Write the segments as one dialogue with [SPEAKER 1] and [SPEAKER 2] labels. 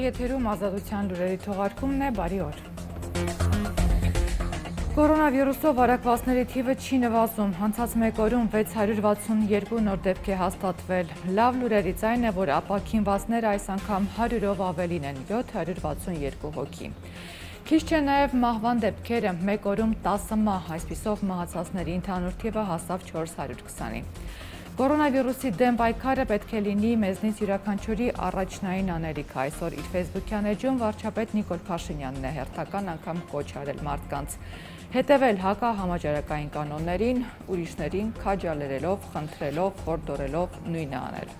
[SPEAKER 1] եթերում ազատության լուրերի թողարկումն է, բարի օր։ Կորոնավիրուսով վարակվածների թիվը չի նվազում, անցած մեկ օրում 662 նոր դեպք է հաստատվել։ Լավ լուրերից այն է, որ ապաքինվածները այս անգամ 100-ով ավելին են, 762 հոգի։ Քիչ չէ նաև մահվան դեպքերը, մեկ օրում 10 մահ, այսպիսով մահացածների ընդհանուր թիվը հասավ 420-ի։ Կորոնավիրուսի դեմ պայքարը պետք է լինի մեզնից յուրաքանչյուրի առաջնային անելիք։ Այսօր իր ֆեյսբուքյան էջում վարչապետ Նիկոլ Փաշինյանն է հերթական անգամ կոչ արել մարդկանց հետևել հակահամաճարակային կանոններին, ուրիշներին քաջալերելով, խնդրելով, հորդորելով նույնը անել։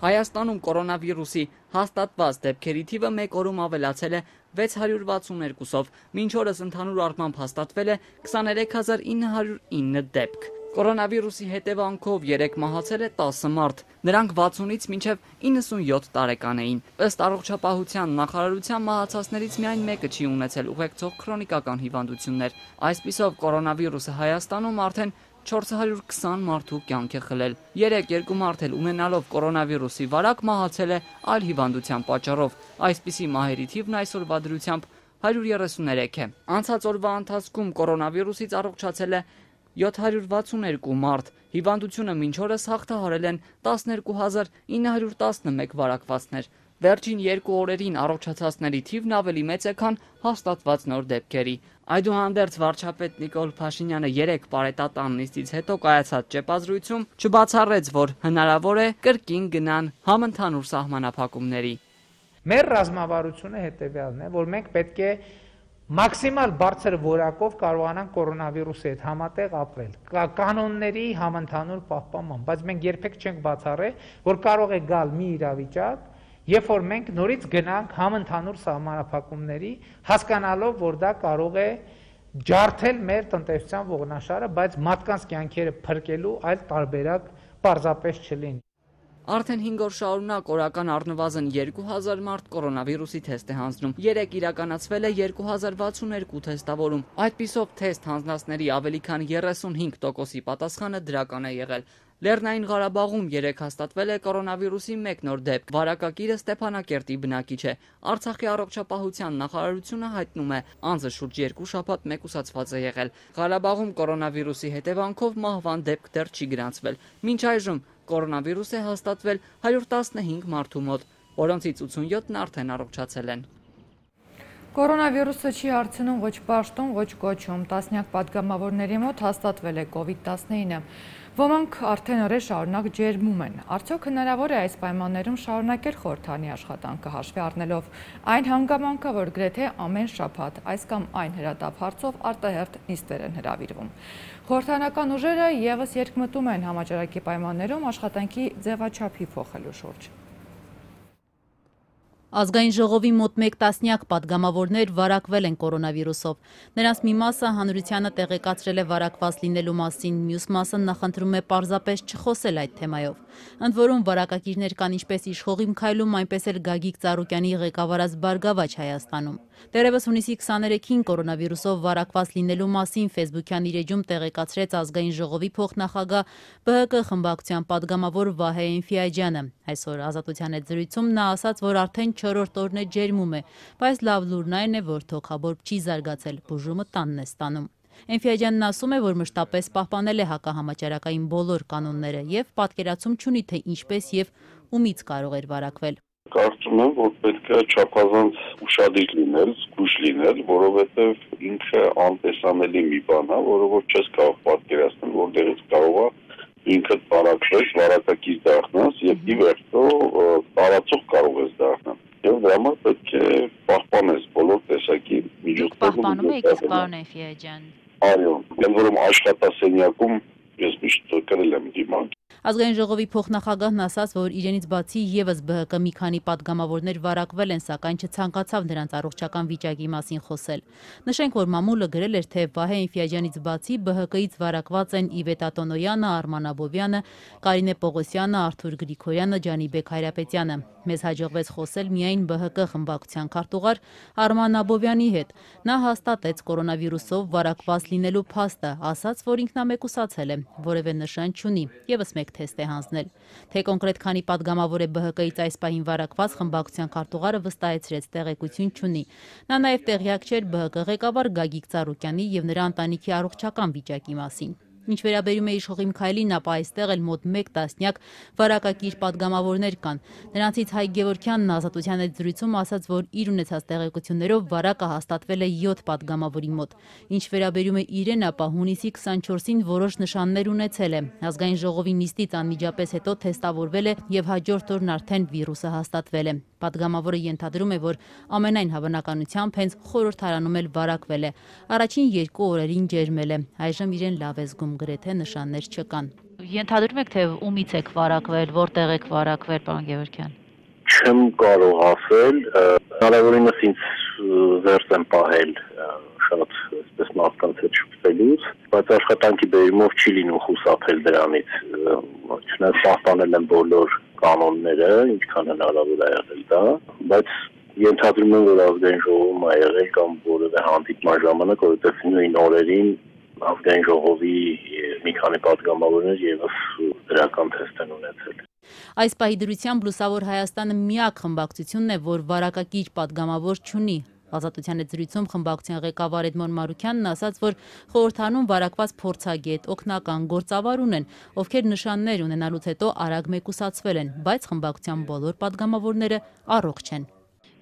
[SPEAKER 2] Հայաստանում կորոնավիրուսի հաստատված դեպքերի թիվը մեկ օրում ավելացել է 662-ով, մինչ օրս ընդհանուր առմամբ հաստատվել է 23909 դեպք։ Կորոնավիրուսի հետևանքով 3 մահացել է 10 մարդ, նրանք 60-ից մինչև 97 տարեկան էին։ Ըստ առողջապահության նախարարության մահացածներից միայն մեկը չի ունեցել ուղեկցող քրոնիկական հիվանդություններ։ Այսպիսով կորոնավիրուսը Հայաստանում արդեն 420 մարդու կյանք է խլել։ 2 մարդ էլ ունենալով կորոնավիրուսի վարակ մահացել է այլ հիվանդության պատճառով։ Այսպիսի մահերի թիվն այսօրվա դրությամբ 133 է։ Անցած օրվա ընթացքում կորոնավիրուսից առողջացել է 762 մարդ, հիվանդությունը մինչ օրս հաղթահարել են 12911 վարակվածներ։ Վերջին 2 օրերին առողջացածների թիվն ավելի մեծ է, քան հաստատված նոր դեպքերի։ Այդուհանդերձ վարչապետ Նիկոլ Փաշինյանը 3 պարետատան նիստից հետո կայացած ճեպազրույցում չբացառեց, որ հնարավոր է կրկին գնան համընդհանուր սահմանափակումների։
[SPEAKER 3] Մեր ռազմավարությունը հետևյալն է, որ մենք պետք է մաքսիմալ բարձր որակով կարողանանք կորոնավիրուսի հետ համատեղ ապրել, կանոնների համընդհանուր պահպանման, բայց մենք երբեք չենք բացառել, որ կարող է գալ մի իրավիճակ, երբ որ մենք նորից գնանք համընդհանուր սահմանափակումների, հասկանալով, որ դա կարող է ջարդել մեր տնտեսության ողնաշարը, բայց մարդկանց կյանքերը փրկելու այլ տարբերակ պարզապես չլինի։
[SPEAKER 2] Արդեն 5 օր շարունակ օրական առնվազն 2000 մարդ կորոնավիրուսի թեստ է հանձնում։ 3 իրականացվել է 2062 թեստավորում։ Այդպիսով թեստ հանձնածների ավելի քան 35%-ի պատասխանը դրական է եղել։ Լեռնային Ղարաբաղում 3 հաստատվել է կորոնավիրուսի 1 նոր դեպք։ Վարակագիրը Ստեփանակերտի բնակիչ է։ Արցախի առողջապահության նախարարությունը հայտնում է, անձը շուրջ 2 շաբաթ մեկուսացված է եղել։ Ղարաբաղում կորոնավիրուսի հետևանքով մահվան դեպք դեռ չի գրանցվել։ Մինչ այժմ կորոնավիրուս է հաստատվել 115 մարդու մոտ, որոնցից 87-ն արդեն առողջացել են։
[SPEAKER 1] Կորոնավիրուսը չի հարցնում ոչ պաշտոն, ոչ կոչում, տասնյակ պատգամավորների մոտ հաստատվել է COVID-19։ Ոմանք արդեն օրեր շարունակ ջերմում են։ Արդյոք հնարավոր է այս պայմաններում շարունակել խորհրդանի աշխատանքը հաշվի առնելով այն հանգամանքը, որ գրեթե ամեն շաբաթ այս կամ այն հրատապ հարցով արտահերթ նիստեր են հրավիրվում։ Խորհրդանական ուժերը ևս երկմտում են համաճարակի պայմաններում աշխատանքի ձևաչափի փոխելու շուրջ։
[SPEAKER 4] Ազգային ժողովի մոտ 1 տասնյակ պատգամավորներ վարակվել են կորոնավիրուսով։ Նրանց մի մասը հանրությանը տեղեկացրել է վարակված լինելու մասին, մյուս մասը նախընտրում է պարզապես չխոսել այդ թեմայով։ Ընդ որում վարակագիրներ կան ինչպես իշխող քայլում, այնպես էլ Գագիկ Ծառուկյանի ղեկավարած Բարգավաճ Հայաստանում։ Դեռևս հունիսի 23-ին կորոնավիրուսով վարակված լինելու մասին ֆեյսբուքյան իր էջում տեղեկացրեց Ազգային ժողովի փոխնախագահ ԲՀԿ խմբակցության падգամավոր Վահե Էնֆիաջյանը։ Այսօր Ազատության հետ զրույցում նա ասաց, որ արդեն 4-րդ օրն է ջերմում է, բայց լավ լուրն այն է, որ թոքաբորբ չի զարգացել, բուժումը տանն է ստանում։ Էնֆիաջյանն ասում է, որ մշտապես պահպանել է հակահամաճարակային բոլոր կանոնները եւ պատկերացում չունի, թե ինչպես եւ ումից կարող էր վարակվել։
[SPEAKER 5] Կարծում եմ, որ պետք է չափազանց ուշադիր լինել, զգույշ լինել, որովհետև ինքը անտեսանելի մի բան է, որը որ չես կարող պատկերացնել, որտեղից կարող է ինքդ վարակվել, վարակագիր դառնաս եւ ի վերջո տարածող կարող ես դառնալ։ Եվ դրա համար պետք է պահպանես բոլոր տեսակի միջոցները։
[SPEAKER 4] Պահպանում եք, իսկ պարոն Էնֆիաջյան։
[SPEAKER 5] Այո, ընդ որում աշխատասենյակում ես միշտ կրել եմ դիմանք։
[SPEAKER 4] Ազգային ժողովի փոխնախագահն ասաց, որ իրենից բացի եւս ԲՀԿ մի քանի падգամավորներ վարակվել են, սակայն չցանկացավ նրանց առողջական վիճակի մասին խոսել։ Նշենք, որ մամուլը գրել էր, թե Վահե Էնֆիաջյանից բացի ԲՀԿ-ից վարակված են Իվետ Ատոնոյանը, Արման Աբովյանը, Կարինե Պողոսյանը, Արթուր Գրիգորյանը, Ջանիբեկ Հայրապետյանը։ Մեզ հաջողվեց խոսել միայն ԲՀԿ խմբակցության քարտուղար Արման Աբովյանի հետ։ Նա հաստատեց կորոնավիրուսով վարակված լինելու փաստը, ասաց, որ ինքնամեկուսացել է, որևէ նշան չունի։ Եվս մեկ թեստ է հանձնել։ Թե կոնկրետ քանի պատգամավոր է ԲՀԿ-ից այս պահին վարակված, խմբակցության քարտուղարը վստահեցրեց, տեղեկություն չունի։ Նա նաև տեղյակ չէր ԲՀԿ ղեկավար Գագիկ Ծառուկյանի եւ նրա ընտանիքի առողջական վիճակի մասին։ Ինչ վերաբերում է իշխող Միքայելին, ապա այստեղ էլ մոտ 1 տասնյակ վարակակիր պատգամավորներ կան։ Նրանցից Հայկ Գևորգյանն Ազատության հետ զրույցում ասաց, որ իր ունեցած տեղեկություններով վարակը հաստատվել է 7 պատգամավորի մոտ։ Ինչ վերաբերում է իրեն, ապա հունիսի 24-ին որոշ նշաններ ունեցել է։ Ազգային ժողովի նիստից անմիջապես հետո թեստավորվել է եւ հաջորդ օրն արդեն վիրուսը հաստատվել է։ Պատգամավորը ենթադրում է, որ ամենայն հավանականությամբ հենց խորհրդարանում էլ վարակվել է։ Առաջին 2 օրերին ջերմել է։ Այժմ իրեն լավ է զգում, գրեթե նշաններ չկան։ Ենթադրում եք, թե ումից եք վարակվել, որտեղ եք վարակվել, պարոն Գևորգյան։
[SPEAKER 5] Չեմ կարող ասել, հնարավորինս ինձ զերծ եմ պահել շատ այսպես մարդկանց հետ շփվելուց, բայց աշխատանքի բերումով չի լինում խուսափել դրանից։ Չնայած պահպանել եմ բոլոր կանոնները, ինչքան հնարավոր է եղել դա, բայց ենթադրում եմ, որ ազգային ժողովում է եղել կամ որևէ հանդիպման ժամանակ, որովհետև նույն օրերին ազգային ժողովի մի քանի պատգամավորներ եւս դրական թեստ են ունեցել։
[SPEAKER 4] Այս պահի դրությամբ Լուսավոր Հայաստանը միակ խմբակցությունն է, որ վարակակիր պատգամավոր չունի։ Ազատության հետ զրույցում խմբակցության ղեկավար Էդմոն Մարուքյանն ասաց, որ խորհրդարանում վարակված փորձագետ, օգնական, գործավար ունեն, ովքեր նշաններ ունենալուց հետո արագ մեկուսացվել են, բայց խմբակցության բոլոր պատգամավորները առողջ են։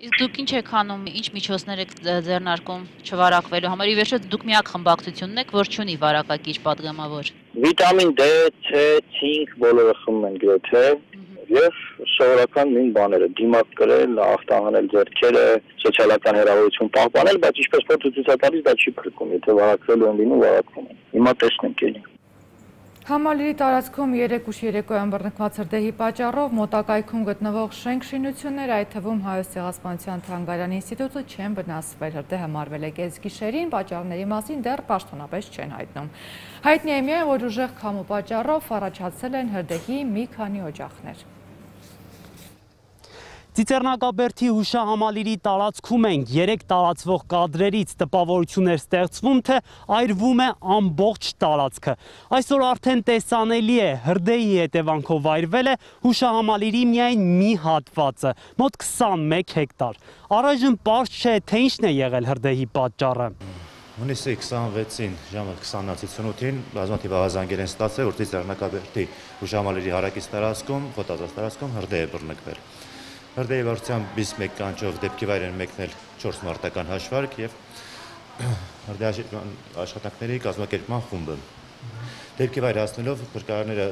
[SPEAKER 4] Իսկ դուք ինչ եք անում, ինչ միջոցներ եք ձեռնարկում չվարակվելու համար։ Ի վերջո դուք միակ խմբակցությունն եք, որ չունի վարակակիր պատգամավոր։
[SPEAKER 6] Վիտամին D, C, ցինկ բոլորը խմում են գրեթե եւ սովորական նույն բաները՝ դիմակ կրել, ախտահանել ձեռքերը, սոցիալական հեռավորություն պահպանել, բայց ինչպես փորձ ցույց տալիս դա չի փրկում, եթե վարակվելու են լինում, վարակվում են։ Հիմա տեսնենք էլի։
[SPEAKER 1] Համալիրի տարածքում 3 ուշ երեկոյան բռնկված հրդեհի պատճառով մոտակայքում գտնվող շենք շինությունները, այդ թվում Հայոց ցեղասպանության թանգարանի ինստիտուտը չեն վնասվել։ Հրդեհը մարվել է կեսգիշերին, պատճառների մասին դեռ պաշտոնապես չեն հայտնում։ Հայտնի է միայն, որ ուժեղ քամու պատճառով առաջացել են հրդեհի մի քանի օջախներ։
[SPEAKER 7] Ծիծեռնակաբերդի հուշահամալիրի տարածքում ենք 3 տարածվող կադրերից տպավորություններ ստեղծվում, թե այրվում է ամբողջ տարածքը։ Այսօր արդեն տեսանելի է, հրդեհի հետևանքով այրվել է հուշահամալիրի միայն մի հատվածը, մոտ 21 հեկտար։ Առայժմ պարզ չէ, թե ինչն է եղել հրդեհի պատճառը։
[SPEAKER 8] Հունիսի 26-ին ժամը 20:58-ին բազմաթիվ ահազանգեր են ստացել, որ Ծիծեռնակաբերդի հուշահամալիրի հարակից տարածքում, խոտածած տարածքում հրդեհ է բռնկվել։ Հրդեհի վարչության բիս մեկ կանչով դեպքի վայր են մեկնել 4 մարտական հաշվարկ եւ հրդեհի աշխատանքների կազմակերպման խումբը։ Դեպքի վայր հասնելով փրկարարները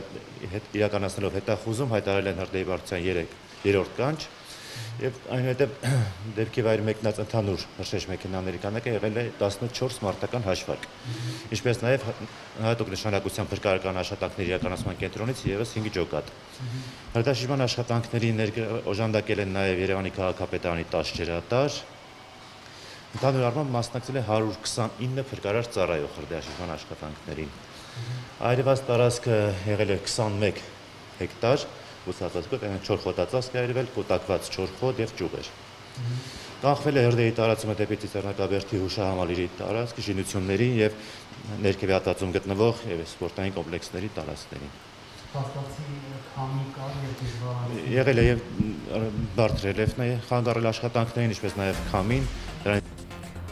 [SPEAKER 8] իրականացնելով հետախուզում հայտարարել են հրդեհի վարչության 3-րդ կանչ եւ այնուհետեւ դեպքի վայր մեկնած ընդհանուր հրշեջ մեքենաների քանակը եղել է 14 մարտական հաշվարկ։ Ինչպես նաեւ հատուկ նշանակության փրկարարական աշխատանքների իրականացման կենտրոնից եւս 5 ջոկատ։ Հրդեհաշիժման աշխատանքների օժանդակել են նաեւ Երևանի քաղաքապետարանի 10 ջրատար։ Ընդհանուր առմամբ մասնակցել է 129 փրկարար ծառայող հրդեհաշիժման աշխատանքներին։ Այրված տարածքը եղել է 21 հեկտար, ուսացածքով 4 խոտածածկ է այրվել, կուտակված 4 խոտ եւ ճյուղեր։ Կանխվել է հրդեհի տարածումը դեպի Ծիծեռնակաբերդի հուշահամալիրի տարածքի շինությունների եւ ներքևի հատվածում գտնվող եւ սպորտային կոմպլեքսների տարածքներին։
[SPEAKER 7] Փաստացի քամի կար եւ դժվար
[SPEAKER 8] եղել է եւ բարդ ռելիեֆն է խանգարել աշխատանքներին, ինչպես նաեւ քամին։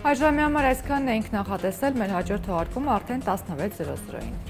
[SPEAKER 1] Այժմի համար այսքանն էինք նախատեսել, մեր հաջորդ թողարկումը արդեն 16:00-ին։